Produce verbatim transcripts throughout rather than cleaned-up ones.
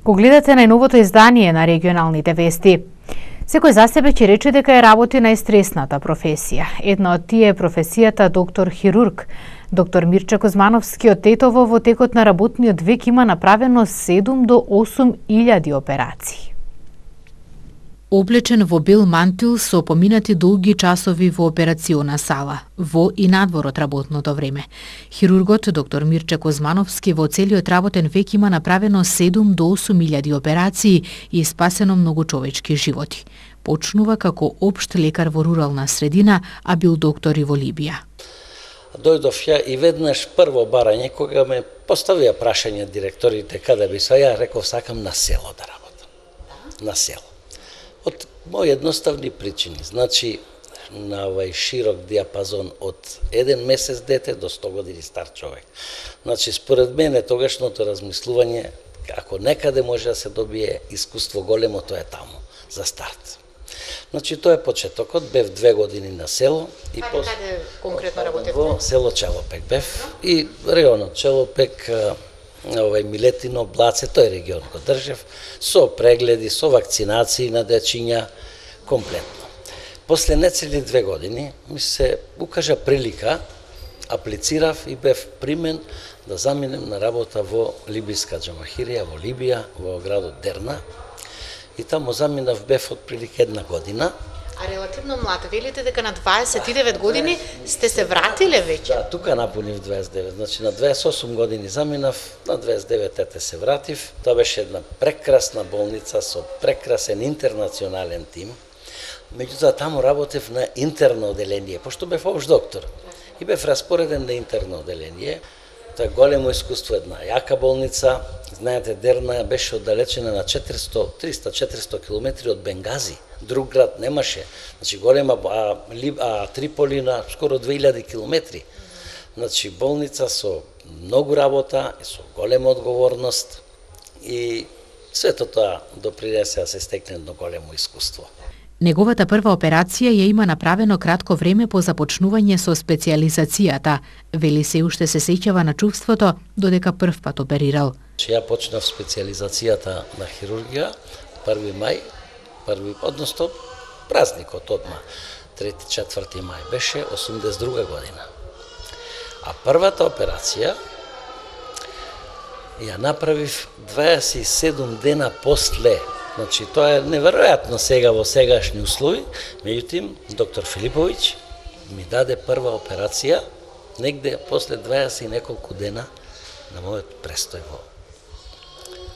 Ко гледате најновото издание на регионалните вести. Секој за себе ќе рече дека е работи најстресната професија. Една од тие е професијата доктор хирург. Доктор Мирча Кузмановски од Тетово во текот на работниот век има направено седум до осум илјади операции. Облечен во бел мантил со поминати долги часови во операциона сала, во и надвор од работното време. Хирургот доктор Мирча Кузмановски во целиот работен век има направено седум до осум илјади операции и спасено многу човечки животи. Почнува како општ лекар во рурална средина, а бил доктор и во Либија. Дојдов ја и веднаш прво барање, кога ме поставија прашање директорите каде би се, ја реков сакам на село да работам. На село. Од мои едноставни причини. Значи, на овај широк диапазон од еден месец дете до сто години стар човек. Значи, според мене, тогашното размислување, ако некаде може да се добие искуство големо, тоа е таму, за старт. Значи, тоа е почетокот, бев две години на село. И каде, пос... каде конкретно работевте? Во село Челопек бев и районот Челопек, овај Милетино, Блаце, тој регион го држев, со прегледи, со вакцинации на дечиња, комплетно. После нецели две години ми се укажа прилика, аплицирав и бев примен да заминем на работа во Либиска џамахирија, во Либија, во градот Дерна. И таму заминав, бев од прилика една година. А релативно млад, велите дека на дваесет и девет години сте се вратиле веќе? Да, тука напунив дваесет и девет, значи на дваесет и осум години заминав, на дваесет и девет ете се вратив. Тоа беше една прекрасна болница со прекрасен интернационален тим. Меѓутоа таму работев на интерно оделение, пошто бев општ доктор. И бев распореден на интерно оделение. Тоа е големо искуство, една јака болница. Знаете, Дерна беше оддалечена на четиристо, триста до четиристо километри од Бенгази. Друг град немаше. Значи голема, а, а Триполи на скоро две илјади километри. Значи болница со многу работа и со голема одговорност и сето тоа допринесе да се стекне едно големо искуство. Неговата прва операција ја има направено кратко време по започнување со специјализацијата. Вели се уште се сеќава на чувството додека прв пат оперирал. Ја почнав специјализацијата на хирургија први мај, први, односто празникот одма, трети четврти мај беше осумдесет и друга година. А првата операција ја направив дваесет и седум дена после. Значи, тоа е неверојатно сега во сегашни услови. Меѓутоа, доктор Филиповиќ ми даде прва операција негде после дваесет и неколку дена на мојот престој во,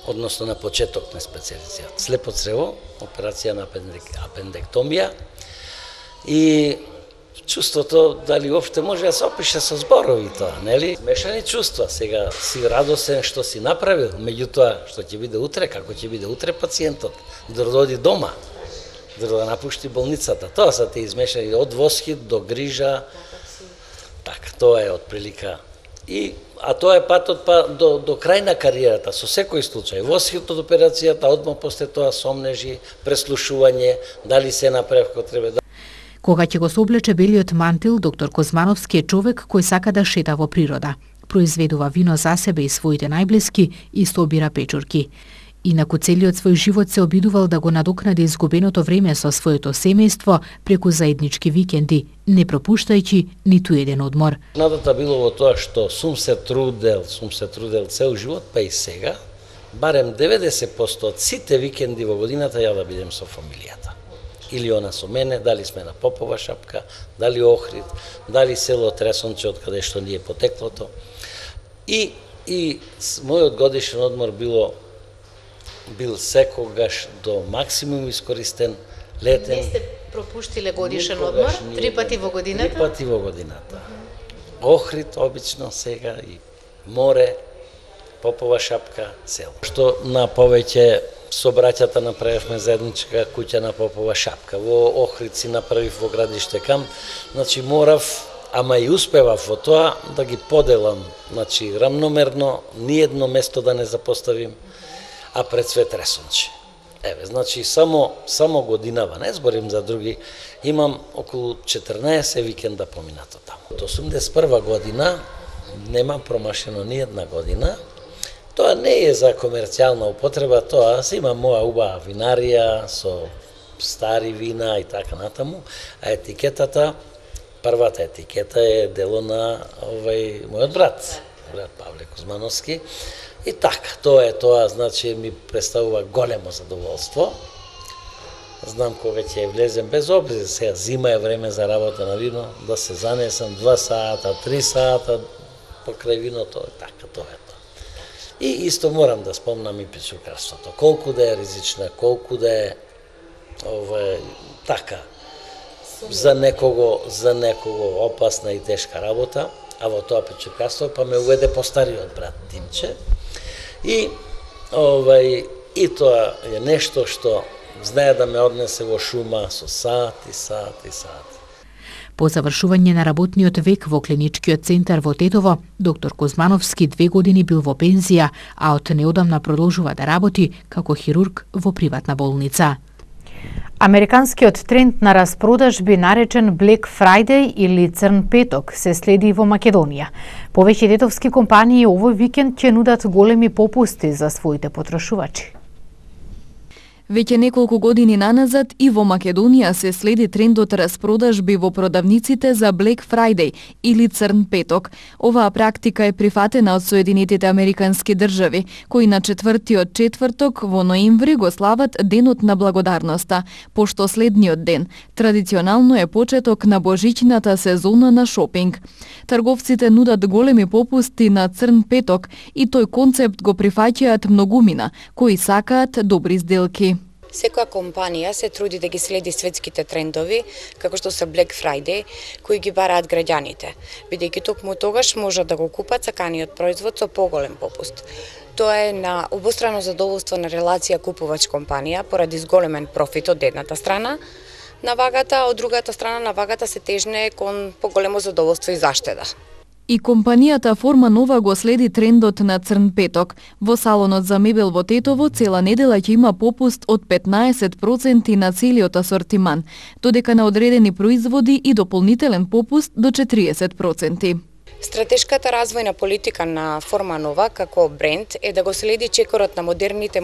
односно на почеток на специјализацијата. Слепо црево, операција на апендектомија и чувството дали уопште може да се опише со зборови тоа, нели? Мешани чувства, сега си радосен што си направил, меѓутоа што ќе биде утре, како ќе биде утре пациентот, да дојде дома, да напушти болницата. Тоа се те измешани од восхит до грижа. Така, тоа е од прилика. И а тоа е патот па до до крај на кариерата, со секој случај. Восхит од операцијата, одма после тоа сомнежи, преслушување, дали се направи како треба. Кога ќе го соблече белиот мантил, доктор Кузмановски е човек кој сака да шета во природа. Произведува вино за себе и своите најблиски и собира печурки. Инаку целиот свој живот се обидувал да го надокнади изгубеното време со своето семејство преку заеднички викенди, не пропуштајќи ниту еден одмор. Надата било во тоа што сум се трудел, сум се трудел цел живот, па и сега, барем деветдесет проценти од сите викенди во годината ја да бидем со фамилијата. Или она со мене, дали сме на Попова шапка, дали Охрид, дали село Тресонче, од каде што ни е потеклото. И, и мојот годишен одмор било бил секогаш до максимум искористен, летен. Не сте пропуштиле годишен одмор? Три пати во годината? Три пати во годината. Охрид обично сега и море, Попова шапка, село. Што на повеќе со браќата направивме заедничка куќа на Попова шапка. Во Охрид си направив во градиште камп. Значи морав, ама и успевав во тоа да ги поделам, значи рамномерно, ни едно место да не запоставим, а пред све Тресонче. Еве, значи само само годинава, не зборим за други, имам околу четрнаесет викенда поминато таму. Од осумдесет и прва година немам промашено ни една година, Тоа не е за комерцијална употреба, тоа се има моја убава винарија со стари вина и така натаму, а етикетата, првата етикета е дело на овај мојот брат, брат Павле Кузмановски. И така, тоа е тоа, значи ми представува големо задоволство. Знам кога ќе влезем без обрез, сега зима е време за работа на вино, да се занесам два сата, три сата покрај виното, така тоа е тоа. И исто морам да спомнам и печукарството, колку да е ризична, колку да е ова така за некого, за некого опасна и тешка работа, а во тоа печукарство па ме уведе постариот брат Тимче. И овај и тоа е нешто што знае да ме однесе во шума со сати, сати, сати. По завршување на работниот век во клиничкиот центар во Тетово, доктор Кузмановски две години бил во пензија, а од неодамна продолжува да работи како хирург во приватна болница. Американскиот тренд на распродажби наречен Black Friday или Црн петок се следи во Македонија. Повеќе тетовски компании овој викенд ќе нудат големи попусти за своите потрошувачи. Веќе неколку години наназад и во Македонија се следи трендот распродажби во продавниците за Black Friday или Црн петок. Оваа практика е прифатена од Соединетите Американски држави, кои на четвртиот четврток во ноември го слават Денот на благодарноста, пошто следниот ден традиционално е почеток на божичната сезона на шопинг. Трговците нудат големи попусти на Црн петок и тој концепт го прифаќаат многумина, кои сакаат добри сделки. Секоја компанија се труди да ги следи светските трендови, како што се Black Friday, кои ги бараат граѓаните, бидејќи токму тогаш можат да го купат саканиот производ со поголем попуст. Тоа е на обострано задоволство на релација купувач-компанија поради зголемен профит од едната страна на вагата, а од другата страна на вагата се тежне кон поголемо задоволство и заштеда. И компанијата Форма Нова го следи трендот на Црн петок. Во салонот за мебел во Тетово цела недела ќе има попуст од петнаесет проценти на целиот асортиман, додека на одредени производи и дополнителен попуст до четириесет проценти. Стратешката развојна политика на Форма Нова како бренд е да го следи чекорот на модерните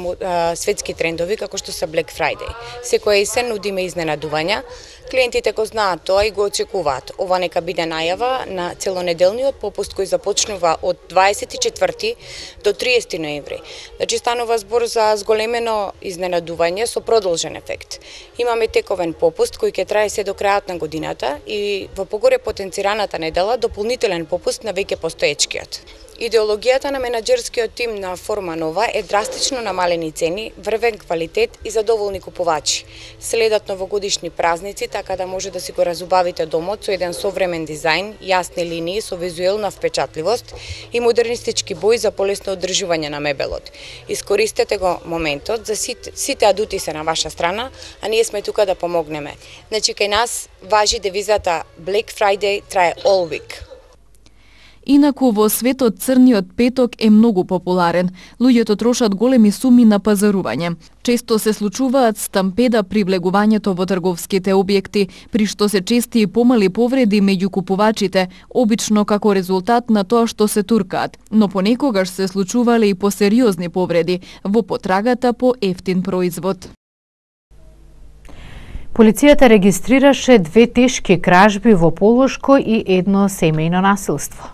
светски трендови како што се Black Friday. Секоја есен нудиме изненадувања. Клиентите го знаат тоа и го очекуваат. Ова нека биде најава на целонеделниот попуст кој започнува од дваесет и четврти до триесети ноември. Значи станува збор за зголемено изненадување со продолжен ефект. Имаме тековен попуст кој ќе трае се до крајот на годината и во погоре потенцираната недела дополнителен попуст на веќе постоечкиот. Идеологијата на менаџерскиот тим на Форма Нова е драстично намалени цени, врвен квалитет и задоволни купувачи. Следат новогодишни празници, така да може да си го разубавите домот со еден современ дизајн, јасни линии со визуелна впечатливост и модернистички бои за полесно одржување на мебелот. Искористете го моментот, за сите, сите адути се на ваша страна, а ние сме тука да помогнеме. Значи кај нас важи девизата Black Friday трае all week. Инаку во светот црниот петок е многу популарен. Луѓето трошат големи суми на пазарување. Често се случуваат стампеда при влегувањето во трговските објекти, при што се чести и помали повреди меѓу купувачите, обично како резултат на тоа што се туркаат, но понекогаш се случувале и посериозни повреди во потрагата по ефтин производ. Полицијата регистрираше две тешки кражби во Полошко и едно семејно насилство.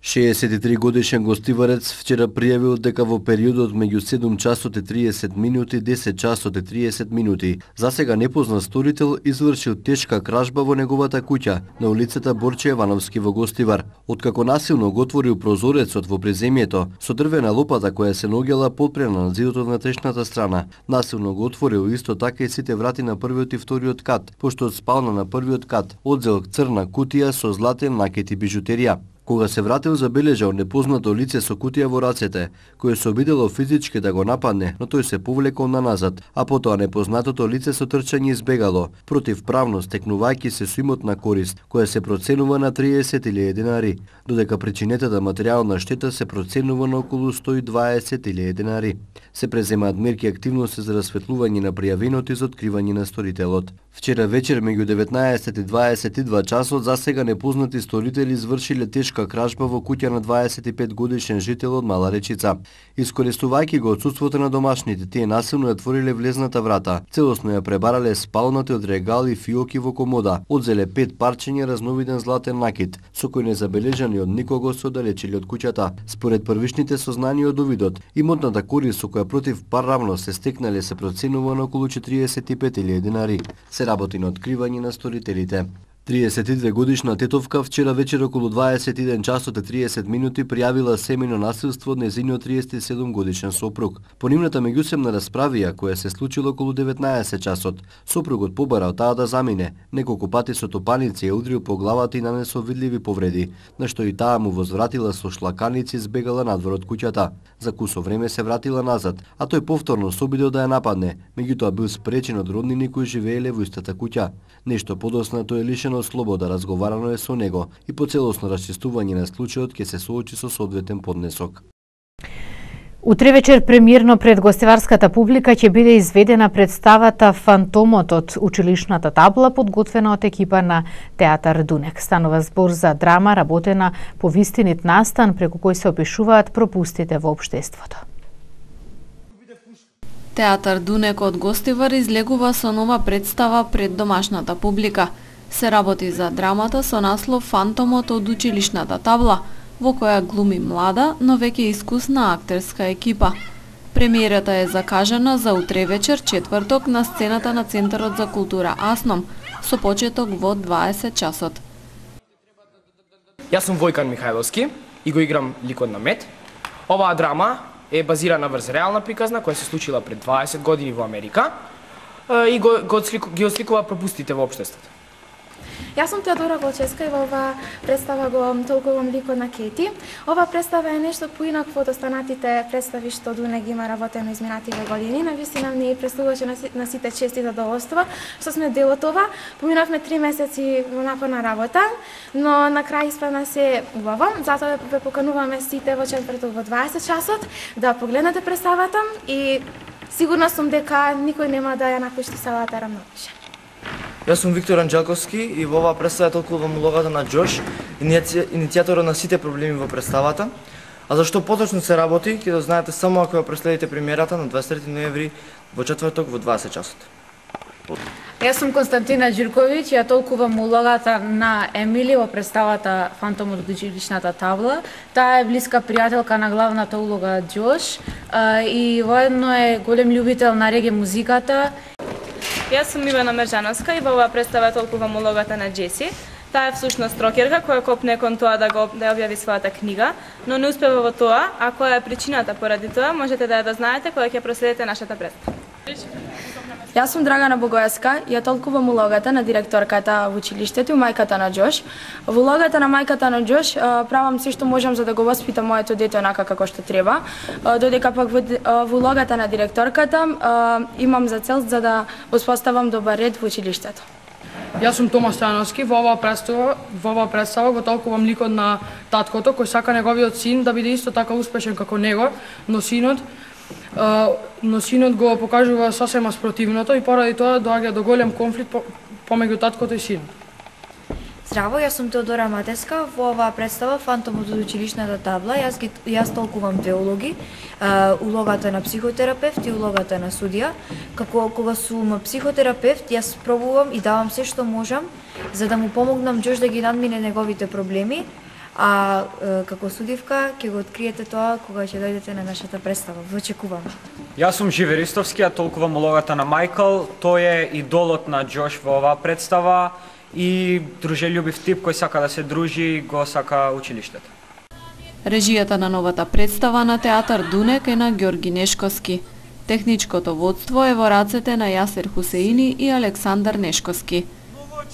шеесет и три годишен гостиварец вчера пријавил дека во периодот меѓу седум часот и триесет минути, десет часот и триесет минути, засега непознат сторител извршил тешка кражба во неговата куќа на улицата Борче Јовановски во Гостивар. Откако насилно го отворил прозорецот во преземјето со дрвена лопата која се наоѓала подпрена на зидот од внатрешната страна, насилно го отворил исто така и сите врати на првиот и вториот кат, пошто од спална на првиот кат одзел црна кутија со златен накет и бижутерија. Кога се вратил, забележал непознато лице со кутија во рацете, кое се обидело физички да го нападне, но тој се повлекол на назад, а потоа непознатото лице со трчање избегало, противправно стекнувајќи се со имотна корист, која се проценува на триесет илјади денари, додека причинетата материјална штета се проценува на околу сто и дваесет илјади денари. Се преземаат мерки активности за расветлување на пријавеното и за откривање на сторителот. Вчера вечер меѓу деветнаесет и дваесет и два часот засега непознати сторители извршиле тешка кражба во куќа на дваесет и пет годишен жител од Мала Речица. Искористувајќи го отсуството на домашните, тие насилно ја отвориле влезната врата. Целосно ја пребарале спалната од регали и фиоки во комода. Одзеле пет парчиња разновиден златен накит, со кој не забележани од никого се оддалечили од куќата. Според првичните сознанија од увидот, имотната корист со која против парравно се стекнале се проценува на околу четириесет и пет илјади динари. Се работи на откривање на сторителите. триесет и две годишна тетовка вчера вечер околу дваесет и еден часот и триесет минути пријавила семејно насилство од нејзиниот триесет и седум годишен сопруг. По нивната меѓусебна расправија, која се случила околу деветнаесет часот, сопругот побарал таа да замине. Неколку пати со топаници ја удрил по главата и нанесол видливи повреди, на што и таа му возвратила со шлаканици и збегала надвор од куќата. За кусо време се вратила назад, а тој повторно се обидел да ја нападне, меѓутоа бил спречен од роднини кои живееле во истата куќа. Нешто подосна тој е лишено слобода, разговарано е со него и по целосно расчистување на случајот ќе се соочи со соодветен поднесок. Утре вечер премиерно пред гостеварската публика ќе биде изведена представата Фантомот од училишната табла, подготвена од екипа на Театар Дунек. Станува збор за драма работена по вистинит настан, преку кој се опишуваат пропустите во општеството. Театар Дунек од Гостивар излегува со нова представа пред домашната публика. Се работи за драмата со наслов Фантомот од училишната табла, во која глуми млада, но веќе искусна актерска екипа. Премиерата е закажана за утре вечер, четврток, на сцената на Центарот за култура Асном, со почеток во дваесет часот. Јас сум Војкан Михајловски и го играм ликот на Мет. Оваа драма е базирана врз реална приказна која се случила пред дваесет години во Америка и го, го отслику, ги осликува пропустите во општеството. Јас сум Теодора Голчевска и во оваа представа го толкувам ликот на Кети. Ова представа е нешто поинакво од останатите представи што Дунек има работено изминативе години. Навистина не представуваше на сите чести задоволства што сме дел од ова. Поминавме три месеци во напорна работа, но на крај испадна се убаво. Затоа ве покануваме сите во четврток во дваесет часот да погледнете представата и сигурна сум дека никој нема да ја напушти салата рамнопише. Јас сум Виктор Анџелковски и во оваа представа толкувам улогата на Џош, иницијаторот на сите проблеми во представата. А зашто поточно се работи, ќе да знаете само ако ја проследите премиерата на дваесет и трети ноември во четврток во дваесет часот. Јас сум Константина Ѓурковиќ, ја толкувам улогата на Емили во представата Фантомот од училишната табла. Таа е блиска пријателка на главната улога Џош и воедно е голем љубител на реге музиката. Јас сум Ивана Мержановска и во оваа представа толкувам улогата на Джеси. Таа е всушност рокерка која копне кон тоа да го да објави својата книга, но не успева во тоа, а која е причината поради тоа, можете да ја дознаете кога ќе проследите нашата представа. Јас сум Драгана Богоевска и ја толкувам улогата на директорката во училиштето и мајката на Џош. Во улогата на мајката на Џош правам се што можам за да го воспитам моето дете онака како што треба, додека пак во, во улогата на директорката имам за цел за да успоставам добар ред во училиштето. Јас сум Тома Стојановски, во оваа представа, во оваа представа го толкувам ликот на таткото кој сака неговиот син да биде исто така успешен како него, но синот но синот го покажува сосема спротивното и поради тоа доаѓа до голем конфликт помеѓу таткото и синот. Здраво, јас сум Теодора Матеска. Во оваа представа Фантомот од училишната табла јас ги јас толкувам две улоги, улогата на психотерапевт и улогата на судија. Како кога сум психотерапевт, јас пробувам и давам се што можам за да му помогнам Џош да ги надмине неговите проблеми. А како судивка ќе го откриете тоа кога ќе дојдете на нашата представа. Ве очекувам. Јас сум Живе Ристовски, ја толкувам улогата на Мајкл. Тој е идолот на Џош во оваа представа и дружелюбив тип кој сака да се дружи и го сака училиштето. Режијата на новата представа на Театар Дунек е на Ѓорги Нешковски. Техничкото водство е во рацете на Јасер Хусеини и Александар Нешковски.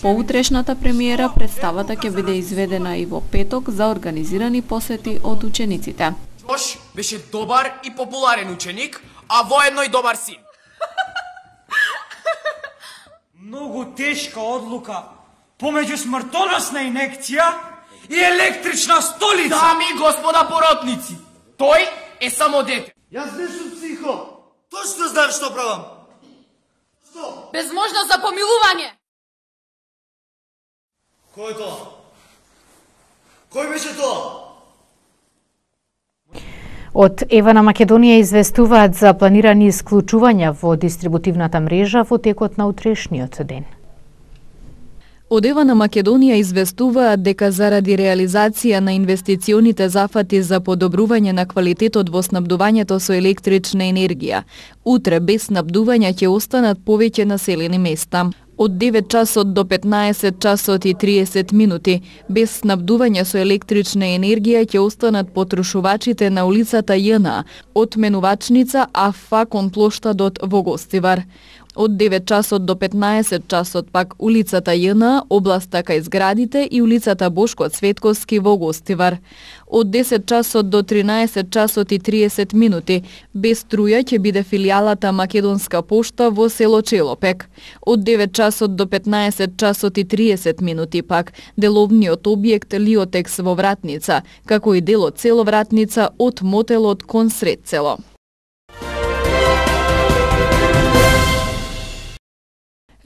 По утрешната премиера представата ќе биде изведена и во петок за организирани посети од учениците. Џош беше добар и популарен ученик, а воедно и добар син. Многу тешка одлука помеѓу смртоносна инекција и електрична столица. Дами и господа поротници, тој е само дете. Јас не сум психо. Точно знам што правам. Што? без можност за помилување. Кој е тоа? Кој беше тоа? Од Ева на Македонија известуваат за планирани исклучувања во дистрибутивната мрежа во текот на утрешниот ден. Од Ева на Македонија известуваат дека заради реализација на инвестиционите зафати за подобрување на квалитетот во снабдувањето со електрична енергија, утре без снабдување ќе останат повеќе населени места. Од девет часот до петнаесет часот и триесет минути без снабдување со електрична енергија ќе останат потрошувачите на улицата Ј.Н. од Менувачница АФ кон плоштадот во Гостивар. Од девет часот до петнаесет часот пак улицата Ј.Н. областа кај зградите и улицата Бошко Цветковски во Гостивар. Од десет часот до тринаесет часот и триесет минути без струја ќе биде филијалата Македонска пошта во село Челопек. Од девет часот до петнаесет часот и триесет минути пак деловниот објект Лиотекс во Вратница, како и делот село Вратница од мотелот кон сред село.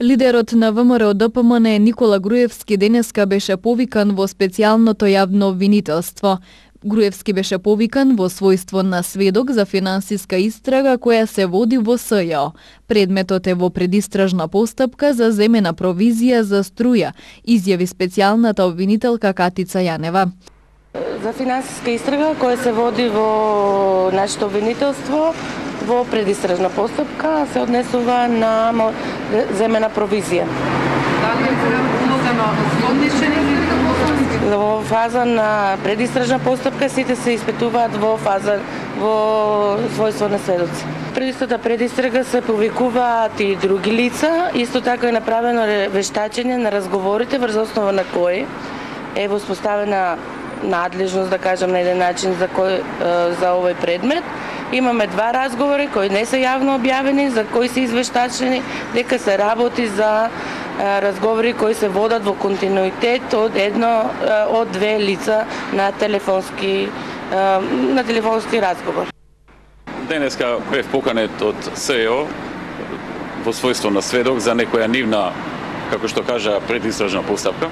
Лидерот на ВМРО-ДПМН Никола Груевски денеска беше повикан во специјалното јавно обвинителство. Груевски беше повикан во својство на сведок за финансиска истрага која се води во СЈО. Предметот е во предистражна постапка за земена провизија за струја, изјави специјалната обвинителка Катица Јанева. За финансиска истрага која се води во нашето обвинителство во предистражна постапка се однесува на земена провизија. Дали е улогено освободничени или во фаза на предистражна постапка сите се испитуваат во фаза во својство на сведоци. Пред истата предистрага се повикуваат и други лица, исто така е направено вештачење на разговорите врз основа на кои е воспоставена надлежност, да кажам на еден начин за кој за овој предмет. Имаме два разговори кои не се јавно објавени, за кои се извештачени дека се работи за разговори кои се водат во континуитет од едно од две лица на телефонски на телефонски разговор. Денеска бев поканет од СЈО во својство на сведок за некоја нивна, како што кажа, предистражна постапка.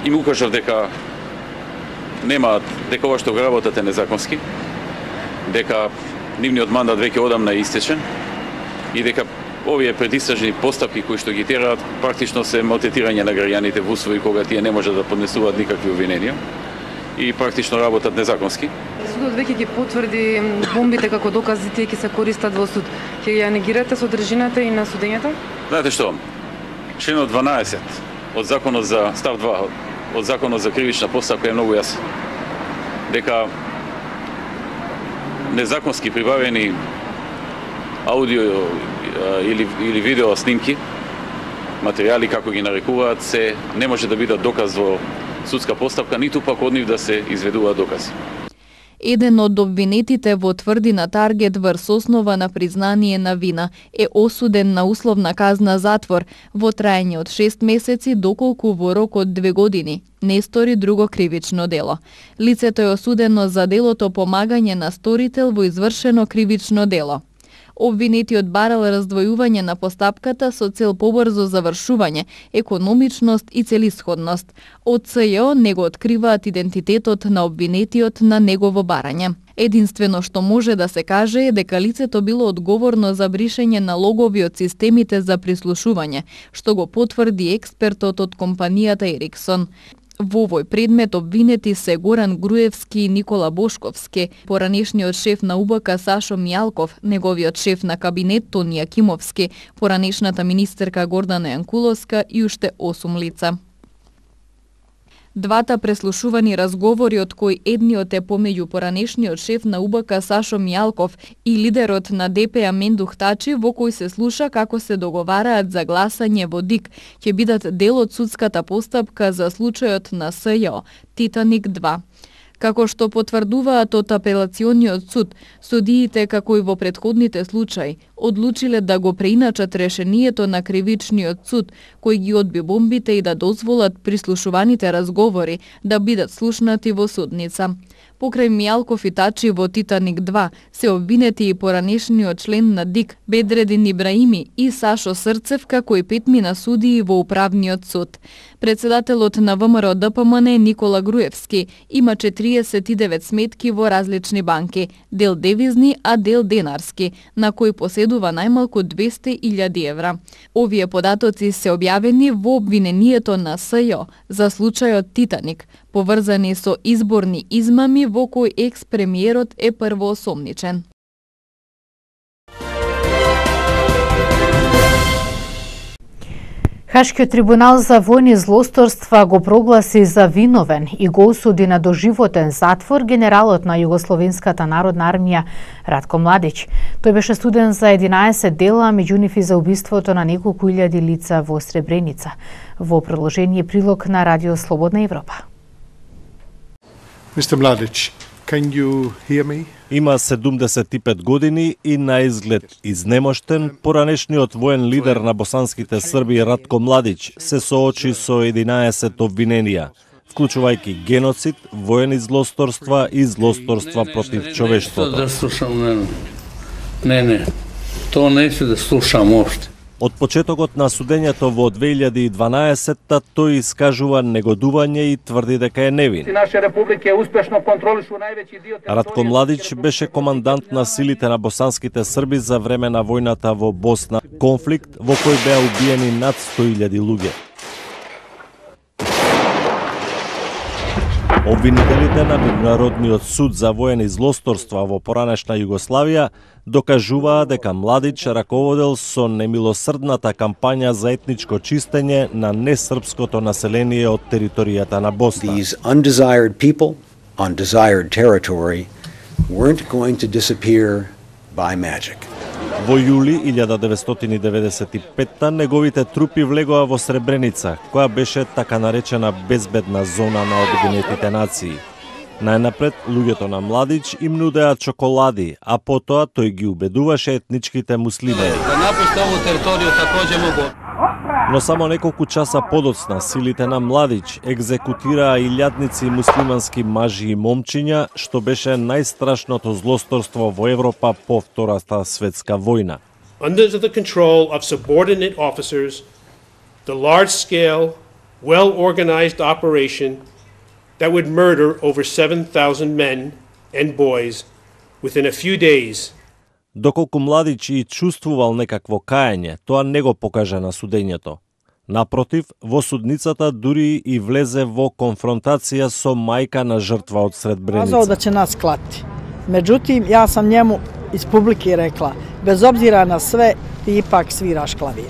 И му кажав дека нема, дека ова што го работат е незаконски, дека нивниот мандат веќе одамна е истечен и дека овие предистражни постапки кои што ги тераат практично се малтретирање на граѓаните во услови кога тие не можат да поднесуваат никакви обвиненија и практично работат незаконски. Судот веќе ги потврди бомбите како докази, тие ќе се користат во суд. Ќе ја негирате содржината и на судењето? Знаете што? Членот дванаесет од законот за став два од законот за кривична постапка е многу јасен. Дека незаконски прибавени аудио или или видео снимки, материјали како ги нарекуваат, се не може да бидат доказ во судска постапка, ниту пак од нив да се изведуваат докази. Еден од обвинетите во тврдина Таргет врз основа на признание на вина е осуден на условна казна затвор во траење од шест месеци доколку во рок од две години не стори друго кривично дело. Лицето е осудено за делото помагање на сторител во извршено кривично дело. Обвинетиот барал раздвојување на постапката со цел побрзо завршување, економичност и целисходност. Од СЈО не го откриваат идентитетот на обвинетиот на негово барање. Единствено што може да се каже е дека лицето било одговорно за бришење на логови од системите за прислушување, што го потврди експертот од компанијата Ериксон. Во овој предмет обвинети се Горан Груевски и Никола Бошковски, поранешниот шеф на УБК Сашо Мијалков, неговиот шеф на кабинет Тони Акимовски, поранешната министерка Гордана Јанкуловска и уште осум лица. Двата преслушувани разговори, од кои едниот е помеѓу поранешниот шеф на УБК Сашо Мијалков и лидерот на ДП Амен Духтачи, во кој се слуша како се договараат за гласање во ДИК, ќе бидат дел од судската постапка за случајот на СЈО Титаник два. Како што потврдуваат од апелациониот суд, судиите, како и во претходните случаи, одлучиле да го преиначат решението на кривичниот суд, кој ги одби бомбите и да дозволат прислушуваните разговори да бидат слушнати во судница. Покрај Мијалков и Тачи во Титаник два се обвинети и поранешниот член на ДИК Бедредин Ибраими и Сашо Срцев, како и петмина судии во управниот суд. Председателот на ВМРО Д П М Н Никола Груевски има четириесет и девет сметки во различни банки, дел девизни, а дел денарски, на кои поседува најмалку двесте илјади евра. Овие податоци се објавени во обвинението на С Ј за случајот Титаник, поврзани со изборни измами во кој екс-премиерот е првоосомничен. Хашкиот трибунал за војни злосторства го прогласи за виновен и го осуди на доживотен затвор генералот на Југословенската народна армија Ратко Младич. Тој беше суден за единаесет дела, меѓу нив и за убиството на неколку илјади лица во Сребреница. Во продолжение прилог на Радио Слободна Европа. мистер Mladic, can you hear me? Има седумдесет и пет години и на изглед изнемоштен, поранешниот воен лидер на босанските Срби Ратко Младич се соочи со единаесет обвиненија, вклучувајќи геноцид, воени злосторства и злосторства против човештвото. Да слушам, не, не, не, то не се да слушам уште. Од почетокот на судењето во две илјади и дванаесетта тој искажува негодување и тврди дека е невин. Ратко Младич беше командант на силите на босанските Срби за време на војната во Босна, конфликт во кој беа убиени над сто илјади луѓе. Обвинителите на Меѓународниот суд за воени злосторства во поранешна Југославија докажуваа дека Младич раководел со немилосрдната кампања за етничко чистење на несрпското население од територијата на Босна. These undesired people on desired territory weren't going to disappear by magic. Во јули илјада деветстотини деведесет и петта неговите трупи влегоа во Сребреница, која беше така наречена безбедна зона на Обединетите нации. Најнапред, луѓето на Младич им нудеа чоколади, а потоа тој ги убедуваше етничките муслими. Да напуште ову територију такоđe могу. Но само неколку часа подоцна силите на Младич екзекутираа илјадници муслимански мажи и момчиња, што беше најстрашното злосторство во Европа по Втората светска војна. Under the control of subordinate officers, the large-scale, well-organized operation that would murder over seven thousand men and boys within a few days. Доколку Младич и чувствувал некакво каење, тоа не го покажа на судењето. Напротив, во судницата дури и влезе во конфронтација со мајка на жртва од Сребреница. Казао да ќе нас клати. Меđutim, ја сам njemu iz publike rekla, bez obzira na sve, ti ipak sviraš klavir.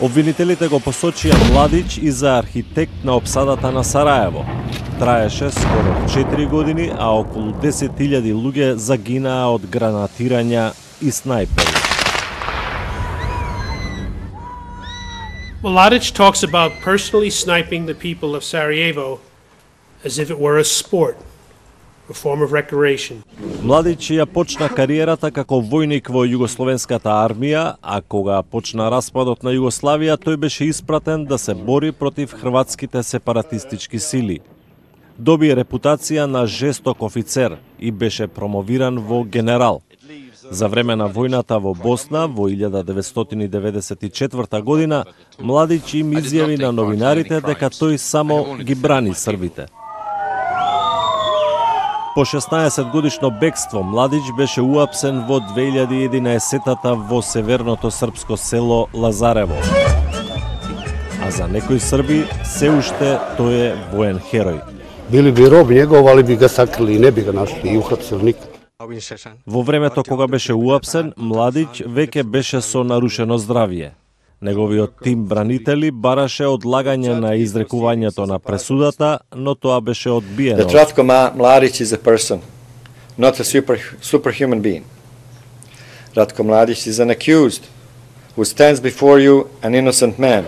Обвинителите го посочија Младич и за архитект на опсадата на Сараево. Траеше скоро четири години, а околу десет илјади луѓе загинаа од гранатирања и снајпери. Mladic talks about personally sniping the people of Sarajevo as if it were a sport, a form of recreation. Младич ја почна кариерата како војник во Југословенската армија, а кога почна распадот на Југославија, тој беше испратен да се бори против хрватските сепаратистички сили. Доби репутација на жесток офицер и беше промовиран во генерал. За време на војната во Босна во илјада деветстотини деветдесет и четврта година, Младич им изјави на новинарите дека тој само ги брани србите. По шеснаесет годишно бегство, Младич беше уапсен во две илјади и единаесетта во северното српско село Лазарево. А за некои срби, се уште тој е воен херој. Били би роб njegov, ali bi ga sakrili i ne bi ga našli i uhapsili nikad. Во времето кога беше уапсен, Младич веќе беше со нарушено здравје. Неговиот тим бранители бараше одлагање на изрекувањето на пресудата, но тоа беше одбиено. That Ratko Mladic is a person, not a super, superhuman being. Ratko Mladic is an accused who stands before you an innocent man.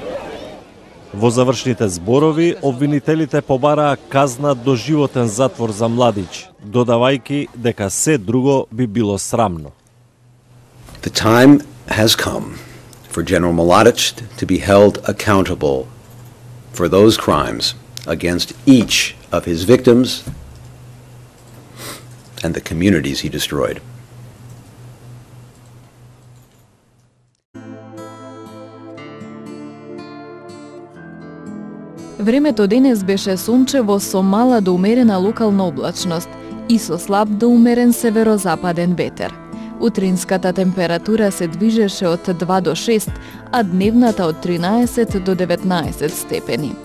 Во завршните зборови, обвинителите побараа казна до животен затвор за Младич, додавајќи дека се друго би било срамно. The time has come for General Mladic to be held accountable for those crimes against each of his victims and the communities he destroyed. Времето денес беше сончево со мала до умерена локална облачност и со слаб до умерен северозападен ветер. Утринската температура се движеше од два до шест, а дневната од тринаесет до деветнаесет степени.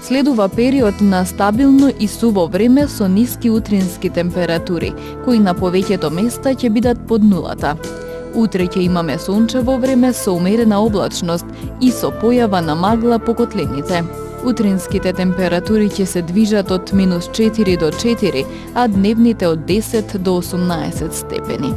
Следува период на стабилно и суво време со ниски утрински температури, кои на повеќето места ќе бидат под нулата. Утре ќе имаме сончево време со умерена облачност и со појава на магла по котлините. Утринските температури ќе се движат од минус четири до четири, а дневните од десет до осумнаесет степени.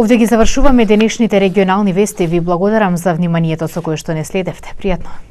Овде ги завршуваме денешните регионални вести. Ви благодарам за вниманието со кое што не следевте. Пријатно.